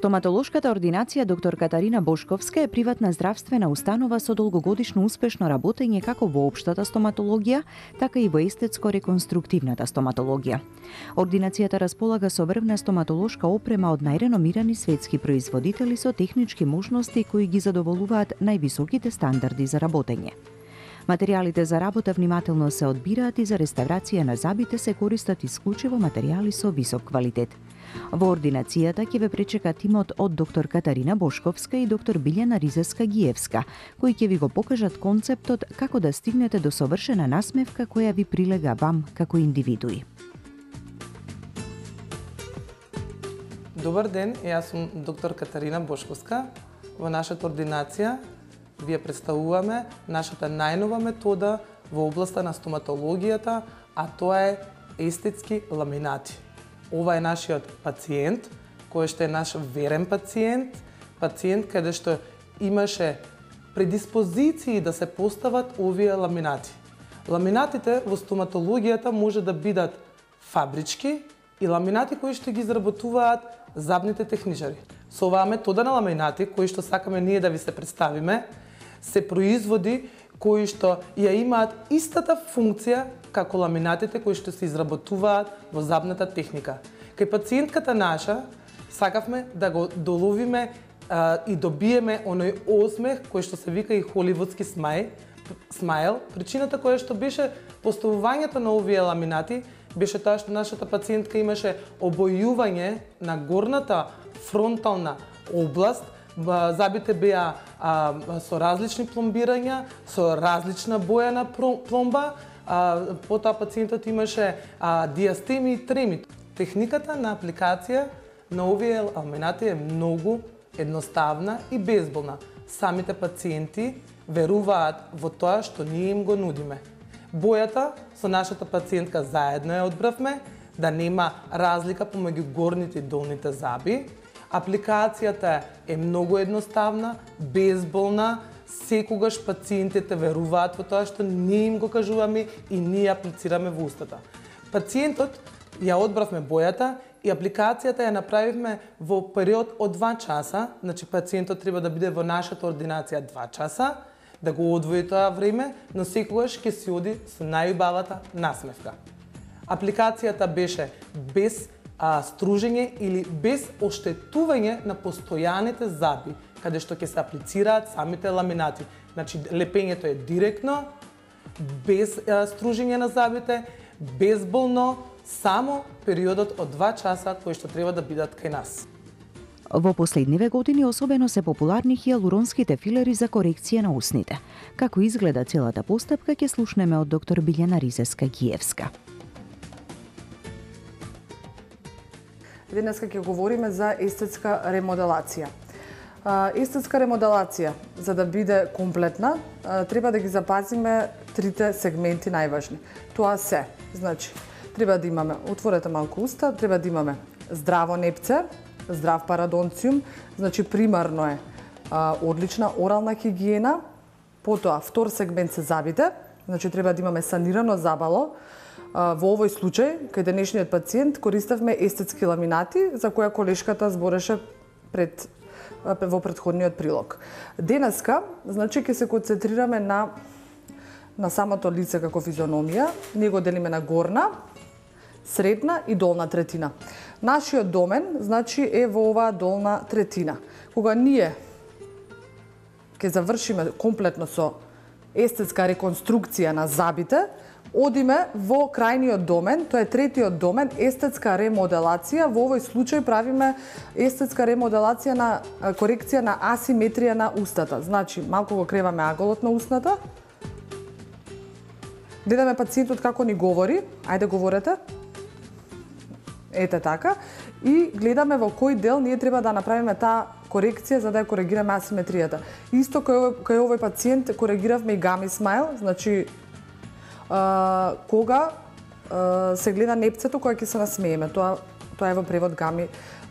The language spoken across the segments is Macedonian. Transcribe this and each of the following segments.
Стоматолошката ординација доктор Катарина Бошковска е приватна здравствена установа со долгогодишно успешно работење како во општата стоматологија, така и во естетско-реконструктивната стоматологија. Ординацијата располага со врвна стоматолошка опрема од најреномирани светски производители со технички можности кои ги задоволуваат највисоките стандарди за работење. Материјалите за работа внимателно се одбираат и за реставрација на зъбите се користат исклучиво материјали со висок квалитет. Во ординацијата ќе ве пречека тимот од доктор Катарина Бошковска и доктор Билјана Ризеска-Гиевска, кои ќе ви го покажат концептот како да стигнете до совршена насмевка која ви прилега вам како индивидуи. Добар ден, јас сум доктор Катарина Бошковска. Во нашата ординација вие представуваме нашата најнова метода во областа на стоматологијата, а тоа е естетски ламинати. Ова е нашиот пациент, кој што е наш верен пациент каде што имаше предиспозиции да се постават овие ламинати. Ламинатите во стоматологијата може да бидат фабрички и ламинати кои што ги изработуваат зъбните техничари. Со оваа метода на ламинати, кои што сакаме ние да ви се представиме, се производи кои што ја имаат истата функција како ламинатите кои што се изработуваат во зъбната техника. Кај пациентката наша сакавме да го доловиме и добиеме оној осмех кој што се вика и холивудски смайл. Причината која што беше поставувањето на овие ламинати беше тоа што нашата пациентка имаше обојување на горната фронтална област. Зъбите беа со различни пломбирања, со различна боја на пломба, потоа пациентот имаше диастеми и треми. Техниката на апликација на овие ламинати е многу едноставна и безболна. Самите пациенти веруваат во тоа што ние им го нудиме. Бојата со нашата пациентка заедно ја одбравме, да нема разлика помеѓу горните и долните зъби. Апликацијата е многу едноставна, безболна, секогаш пациентите веруваат во тоа што ние им го кажуваме и ние аплицираме во устата. Пациентот ја одбравме бојата и апликацијата ја направивме во период од 2 часа, значи пациентот треба да биде во нашата ординација 2 часа, да го одвои тоа време, но секогаш ќе си оди со најубавата насмевка. Апликацијата беше без стружење или без оштетување на постојаните зъби, каде што ќе се аплицираат самите ламинати. Значи, лепењето е директно, без стружење на зъбите, безболно, само периодот од 2 часа кои што треба да бидат кај нас. Во последниве години особено се популарни хијалуронските филери за корекција на усните. Како изгледа целата постапка ќе слушнеме од доктор Билјана Ризеска-Гиевска. Денеска ќе говориме за естетска ремоделација. Естетска ремоделација, за да биде комплетна, треба да ги запазиме трите сегменти најважни. Тоа се, значи, треба да имаме, отворете малку уста, треба да имаме здраво непце, здрав парадонциум, значи примарно е одлична орална хигиена, потоа втор сегмент се зъбите, значи треба да имаме санирано забало. Во овој случај, кај денешниот пациент, користавме естетски ламинати, за која колешката збореше во претходниот прилог. Денеска, значи, ќе се концентрираме на самото лице како физиономија. Ние го делиме на горна, средна и долна третина. Нашиот домен, значи, е во оваа долна третина. Кога ние ќе завршиме комплетно со естетска реконструкција на зъбите, одиме во крајниот домен, тоа е третиот домен, естетска ремоделација. Во овој случај правиме естетска ремоделација на корекција на асиметрија на устата. Значи, малку го креваме аголот на устната. Гледаме пациентот како ни говори. Ајде, говорете. Ете така. И гледаме во кој дел ние треба да направиме таа корекција за да ја коригираме асиметријата. Исто кај овој пациент коригиравме и гами смайл, значи кога се гледа непцето кога ќе се насмееме. Тоа е во превод гами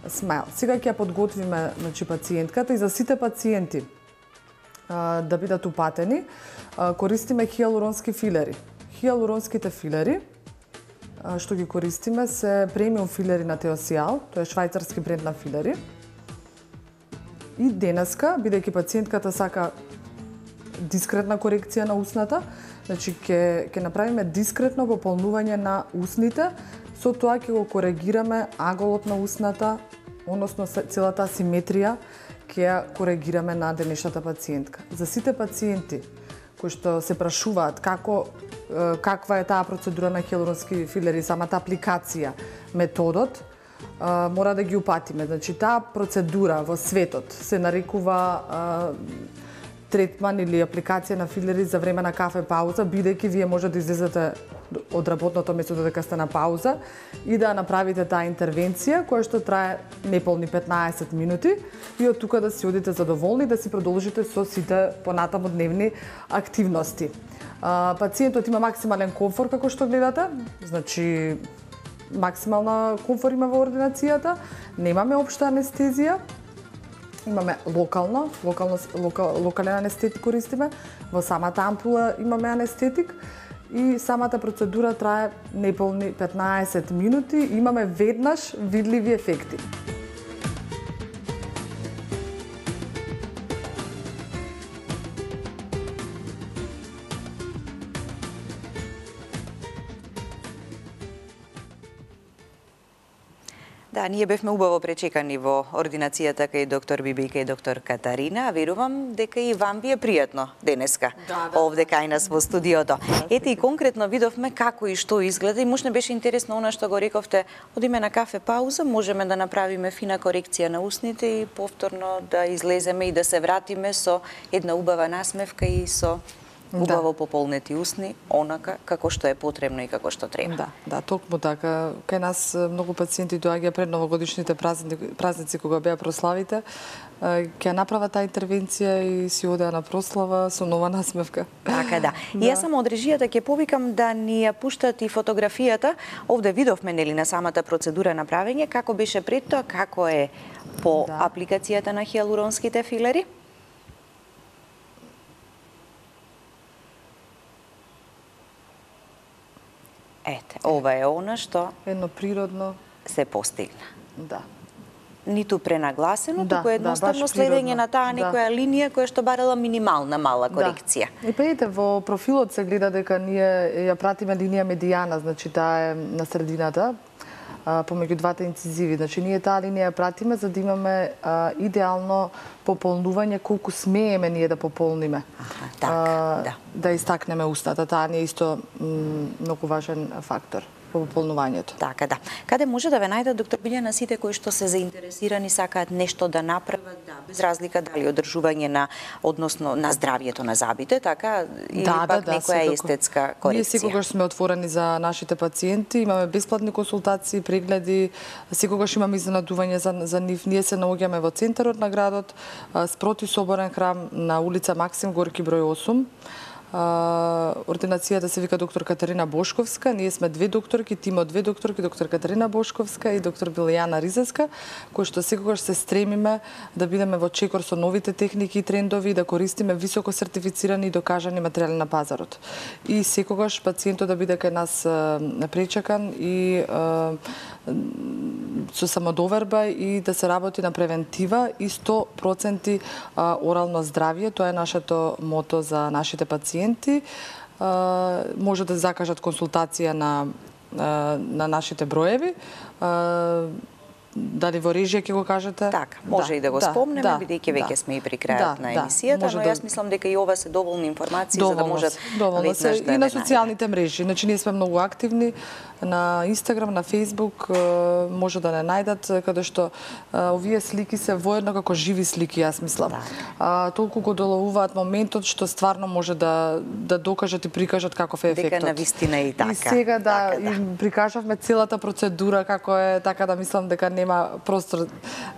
смайл. Сега ќе ја подготвиме, значи, пациентката, и за сите пациенти да бидат упатени, користиме хијалуронски филери. Хијалуронските филери што ги користиме се премиум филери на Теосијал, тоа е швајцарски бренд на филери. И денеска, бидејќи пациентката сака дискретна корекција на усната, значи ќе направиме дискретно пополнување на усните, со тоа ќе го коригираме аголот на усната, односно целата асиметрија ќе ја коригираме на денешната пациентка. За сите пациенти кои што се прашуваат каква е таа процедура на хиалуронски филери, самата апликација, методот, мора да ги упатиме. Значи, таа процедура во светот се нарекува третман или апликација на филери за време на кафе пауза, бидејќи вие може да излезете од работното место додека сте на пауза и да направите таа интервенција која што трае неполни 15 минути и од тука да си одите задоволни да си продолжите со сите понатаму дневни активности. Пациентот има максимален комфор како што гледате, значи максимална комфор има во ординацијата, немаме општа анестезија, имаме локален анестетик користиме, во самата ампула имаме анестетик и самата процедура трае неполни 15 минути, имаме веднаш видливи ефекти. Да, ние бевме убаво пречекани во ординацијата кај доктор Биби и кај доктор Катарина. Верувам дека и вам ви е пријатно денеска овде кај нас во студиото. Ете и конкретно видовме како и што изгледа и можна беше интересно она што го рековте, одиме на кафе пауза, можеме да направиме фина корекција на усните и повторно да излеземе и да се вратиме со една убава насмевка и со убаво пополнети усни, онака како што е потребно и како што треба. Да, токму така. Кај нас многу пациенти доаѓаат пред новогодишните празници кога беа прославите, ќе направат таа интервенција и си одеа на прослава со нова насмевка. Така да. И јас само од режијата ќе повикам да ни ја пуштат и фотографијата. Овде видовме нели на самата процедура на правење, како беше пред тоа, како е по апликацијата на хиалуронските филери. Ете, ова е она што едно природно се постигна. Да. Ниту пренагласено, туку едноставно следење на таа некоја линија која што барала минимална мала корекција. И пеете, во профилот се гледа дека ние ја пратиме линија медијана, значи таа е на средината, помеѓу двата инцизиви. Значи, ние таа линија пратиме за да имаме идеално пополнување колку смееме ние да пополниме. Да истакнеме устата. Таа не е исто многу важен фактор по пополнувањето. Така да. Каде може да ве најдат, доктор Билјана, сите кои што се заинтересирани, сакаат нешто да направат, без разлика дали одржување на, односно на здравјето на забите, така, или пак некоја естетска корекција? Ние секогаш сме отворени за нашите пациенти, имаме бесплатни консултации, прегледи, секогаш имаме изненадување за нив. Ние се наоѓаме во центарот на градот, спроти Соборен храм на улица Максим Горки број 8. Ординацијата се вика доктор Катарина Бошковска. Ние сме две докторки, тим од две докторки, доктор Катарина Бошковска и доктор Билјана Ризеска, кои што секогаш се стремиме да бидеме во чекор со новите техники и трендови, да користиме високо сертифицирани и докажани материјали на пазарот. И секогаш пациентот да биде кај нас пречекан и со самодоверба и да се работи на превентива и 100% орално здравје. Тоа е нашето мото за нашите пациенти. Може да закажат консултација на нашите броеви. Дали во режија ќе го кажете? Така, може и да го спомнеме, бидејќи веќе сме и при крајот на емисијата, но јас мислам дека и ова се доволни информации за да можат веднаш да и на социјалните мрежи. Значи ние сме многу активни на Инстаграм, на Фејсбук, може да не најдат, каде што овие слики се воедно како живи слики, јас мислам. Толку го доловуваат моментот што стварно може да докажат и прикажат каков е ефектот. Дека навистина и така. И сега им прикажавме целата процедура како е, така да мислам дека нема простор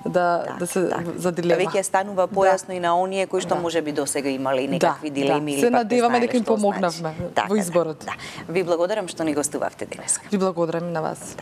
да се за дилема. Веќе станува појасно и на оние кои што можеби досега имале некакви дилеми или се надеваме дека им помогнавме во изборот. Ви благодарам што ни гостувавте денес. Ви благодарам и на вас.